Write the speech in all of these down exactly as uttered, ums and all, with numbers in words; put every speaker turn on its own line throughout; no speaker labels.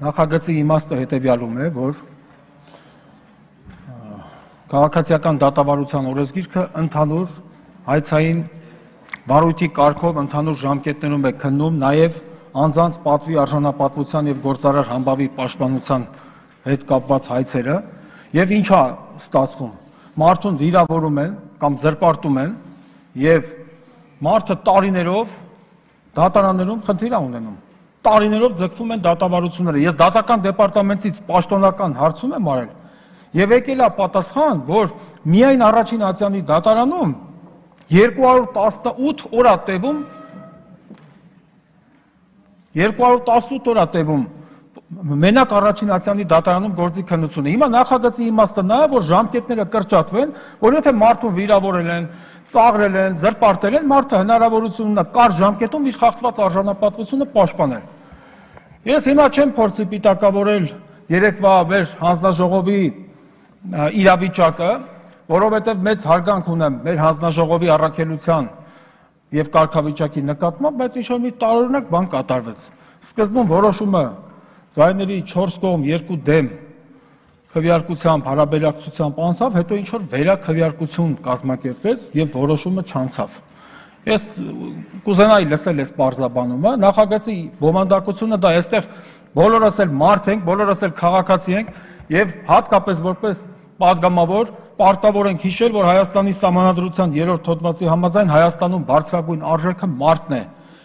Նախագծի իմաստը հետևյալում է, որ քաղաքացիական դատավարության օրենսգիրքը ընդհանուր հայցային վարույթի կարգով ընդհանուր ժամկետներում է քննում նաև անձանց պատվի արժանապատվության եւ գործարար համբավի պաշտպանության հետ կապված հայցերը եւ ինչա ստացվում մարդուն վիրավորում են կամ զրպարտում են եւ մարդը տարիներով դատարաններում խնդիր ունենում տարիներով ձգվում են դատավարությունները ես դատական դեպարտամենտից պաշտոնական հարցում եմ արել եւ եկել է պատասխան որ միայն առաջին ատյանի դատարանում երկու հարյուր տասնութ օր է տևում երկու հարյուր տասնութ օր է տևում մենակ առաջին ատյանի դատարանում գործի քննությունը հիմա նախագծի իմաստը նա է որ ժամկետները կրճատվեն որ եթե մարդուն վիրավորել են ծաղրել են զրպարտել են մարդը հնարավորություն ունենա կարճ ժամկետում իր խախտված արժանապատվությունը պաշտպանել ես հիմա չեմ փորձի պիտակավորել երեկվա մեր հանձնաժողովի իրավիճակը որովհետև մեծ հարգանք ունեմ մեր հանձնաժողովի առաքելության եւ կարգավիճակի նկատմամբ, բայց ինչ-որ մի տարօրինակ բան կատարվեց։ Սկզբում որոշումը ձայների չորս կողմ երկու դեմ քվեարկությամբ, հարաբերակցությամբ անցավ, հետո ինչ-որ վերաքվեարկություն կազմակերպվեց եւ որոշումը չանցավ։ Ես կուզենայի լսել այս պարզաբանումը, նախագծի բովանդակությունը դա այստեղ բոլորս էլ մարդ ենք, բոլորս էլ քաղաքացի ենք եւ հատկապես որպես պատգամավոր պարտավոր ենք հիշել, որ Հայաստանի Սահմանադրության երրորդ հոդվածի համաձայն Հայաստանում բարձրագույն արժեքը մարդն է։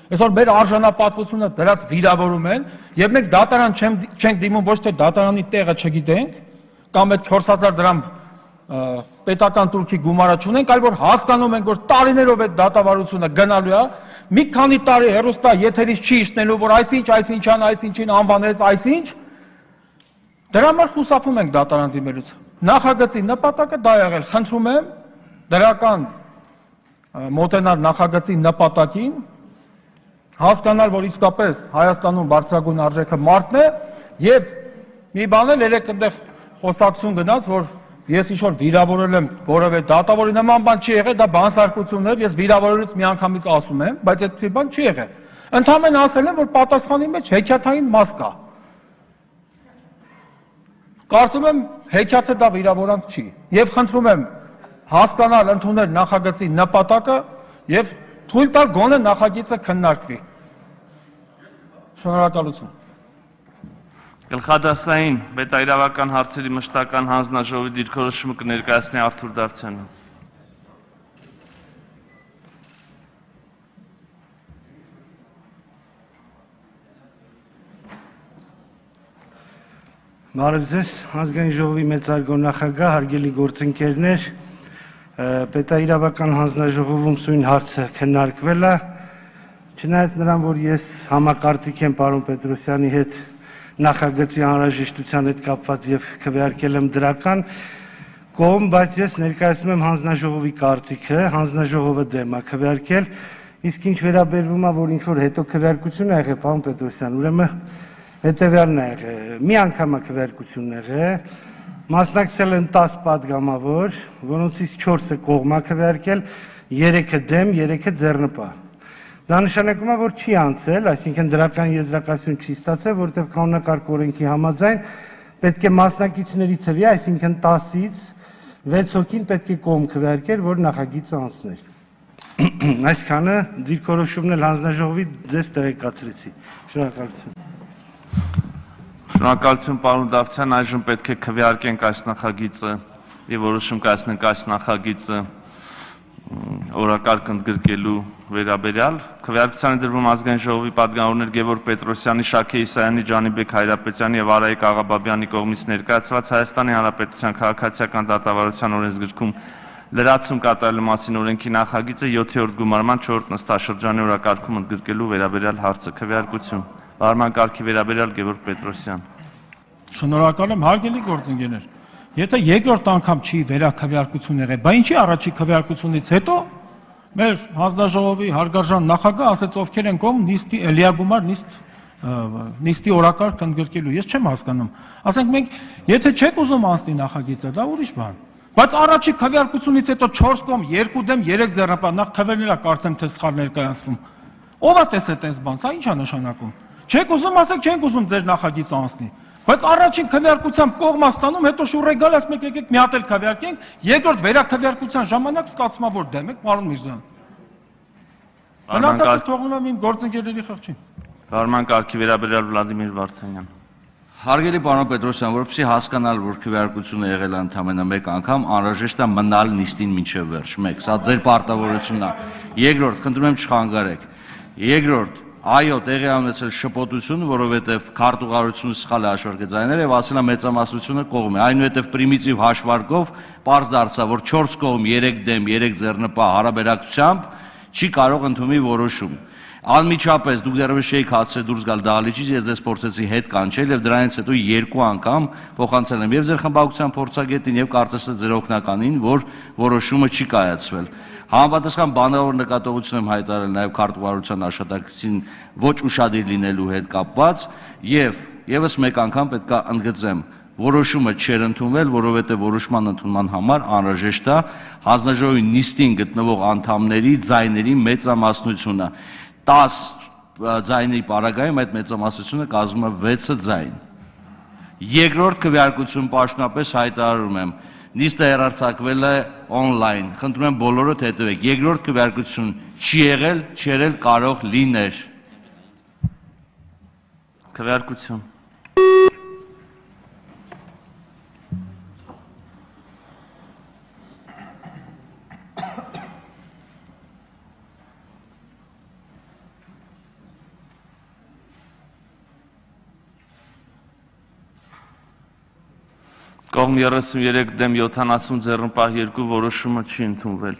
Այսօր մեր արժանապատվությունը դրած վիրավորում են եւ մենք դատարան չենք դիմում ոչ թե դատարանի տեղը չգիտենք կամ այդ չորս հազար դրամ պետական турքի գումարը չունենք, այլ որ հասկանում ենք, որ տարիներով այդ դատավարությունը գնալու է, մի քանի տարի հեռուստա եթերից չի իշտնելու, որ այսինչ, այսինչան, այսինչին անվանեց, այսինչ դրա համար խուսափում ենք դատարան դիմելուց։ Նախագծի նպատակը դա եղել, խնդրում եմ դրական մոտենալ նախագծի նպատակին, հասկանալ, որ իսկապես Հայաստանում բարձրագույն արժեքը մարդն է եւ մի բան էլ երեք այնտեղ խոսակցություն գնաց, որ ես ինչ-որ վիրավորել եմ որևէ դատավորի նման բան չի եղել, դա բանսարկություն էր, ես վիրավորելուց միանգամից ասում եմ, բայց այդպիսի բան չի եղել։ Ընդհանրապես ասել եմ, որ պատասխանի մեջ հեքիաթային մաս կա։ Կարծում եմ հեքիաթը դա վիրավորանք չի եւ խնդրում եմ հասկանալ ընդունել նախագծի նպատակը եւ թույլ տալ գոնե նախագիծը քննարկվի։ Շնորհակալություն։
Գլխադասային պետաիրավական հարցերի մշտական հանձնաժողովի դիրքորոշումը կներկայացնի Արթուր Դավթյանը։
Բարև ձեզ, ազգային ժողովի մեծարգո նախագահ, հարգելի գործընկերներ, պետաիրավական հանձնաժողովում սույն հարցը քննարկվել է, չնայած նրան, որ ես համակարծիք եմ պարոն Պետրոսյանի հետ նախագծի անհրաժեշտության հետ կապված եւ քվեարկել եմ դրական կողմ, բայց ես ներկայացնում եմ հանձնաժողովի կարծիքը, հանձնաժողովը դեմ է քվեարկել, իսկ ինչ վերաբերվում է, որ ինչ որ հետո քվեարկություն է եղել, պարոն Պետրոսյան, ուրեմն հետևյալն է եղել, մի անգամ է քվեարկությունն եղել, մասնակցել են տասը պատգամավոր, որոնցից չորսը կողմ է քվեարկել, երեքը դեմ, երեքը ձեռնպահ։ Դա նշանակում է, որ չի անցել, այսինքն դրական եզրակացություն չի ստացել, որովհետև կանոնակարգ օրենքի համաձայն պետք է մասնակիցների թվի, այսինքն տասից վեց հոգին պետք է կողմ քվեարկել, որ նախագիծը անցներ։ Այսքանը դիրքորոշումն էլ հանձնաժողովի ձեզ տեղեկացրեցի։ Շնորհակալություն։
Շնորհակալություն պարոն Դավթյան, այժմ պետք է քվեարկենք այս նախագիծը եւ որոշում կայացնենք այս նախագիծը օրակարգ ընդգրկելու վերաբերյալ քվեարկության դրվում ազգային ժողովի պատգամավորներ Գևորգ Պետրոսյանի, Շաքե Իսայանի, Ջանիբեկ Հայրապետյանի եւ Արայիկ Աղաբաբյանի կողմից ներկայացված Հայաստանի Հանրապետության քաղաքացիական դատավարության օրենսգրքում լրացում կատարելու մասին օրենքի նախագիծը յոթերորդ գումարման չորրորդ նստաշրջանի օրակարգում ընդգրկելու վերաբերյալ հարցը քվեարկություն Բարման կարգի վերաբերյալ Գևորգ Պետրոսյան։
Շնորհակալ եմ, հարգելի գործընկերներ։ Եթե երկրորդ անգամ չի վերաքվեարկություն եղել, բա ինչի առաջի քվեարկությունից հետո մեր հանձնաժողովի հարգարժան նախագահ ասեց ովքեր են կողմ նիստի լիագումար նիստ նիստի օրակարգ ընդգրկելու։ Ես չեմ հասկանում։ Ասենք մենք եթե չեք ուզում անցնի նախագիծը, դա ուրիշ բան։ Բայց առաջի քվեարկությունից հետո չորս կողմ, երկու դեմ, երեք ձեռնպահ, նախ թվերն էլ կարծեմ թե սխալ ներկայացվում։ Ո՞վ է տեսել այս բան, սա ի՞նչ է նշանակում։ Չեք ուզում ասեք, չենք ուզում ձեր նախագիծը անցնի։ Բայց առաջին քվեարկությամբ կողմա ստանում, հետո շուռեգալ ասում եք եկեք մի հատ էլ քվեարկենք, երկրորդ վերաքվեարկության ժամանակ ստացվում է որ դեմ եք, պարոն Միրզոյան։ Մնացածը թողնում եմ իմ գործընկերների խղճին։
Կառման կարգի վերաբերյալ Վլադիմիր Վարդանյան։
Հարգելի պարոն Պետրոսյան, որպեսզի հասկանալ, որ քվեարկությունը եղել է ընդամենը մեկ անգամ, անհրաժեշտ է մնալ նիստին մինչև վերջ։ Մեկ, սա ձեր պարտավորությունն է։ Երկրորդ, խնդրում եմ չխանգարեք։ Երկրորդ, այո, տեղի ունեցել շփոթություն, որովհետև քարտուղարությունը սխալ է հաշվարկել ձայները եւ ասել է մեծամասնությունը կողմ է։ Այնուհետև պրիմիտիվ հաշվարկով պարզ դարձավ, որ չորս կողմ, երեք դեմ, երեք ձեռնպահ հարաբերակցությամբ չի կարող ընդունի որոշում։ Անմիջապես դուք դեռևս չէիք հասցրել դուրս գալ դահլիճից, ես ձեզ փորձեցի հետ կանչել եւ դրանից հետո երկու անգամ փոխանցել եմ եւ ձեր խմբակցության փորձագետին եւ կարծես թե ձեր օգնականին, որ որոշումը չի կայացվել։ Համապատասխան բանավոր նկատողություն եմ հայտարարել նաեւ քարտուղարության աշխատակցին ոչ ուշադիր լինելու հետ կապված եւ եւս մեկ անգամ պետք է ընդգծեմ, որոշումը չէր ընդունվել, որովհետեւ որոշման ընդունման համար անհրաժեշտ է հանձնաժողովի նիստին գտնվող անդամների ձայների մեծամասնությունը։ տաս ձայների պարագայում այդ մեծամասնությունը կազմում է վեցը ձայն։ Երկրորդ քվեարկություն պաշտոնապես հայտարարում եմ, նիստը հեռարձակվել է on-line, խնդրում եմ բոլորդ հետևեք, երկրորդ քվեարկություն չի եղել, չերել կարող լիներ։
Քվեարկություն։ Կողմ երեսուններեք դեմ յոթանասուն ձեռնպահ երկու որոշումը չի ընդունվել։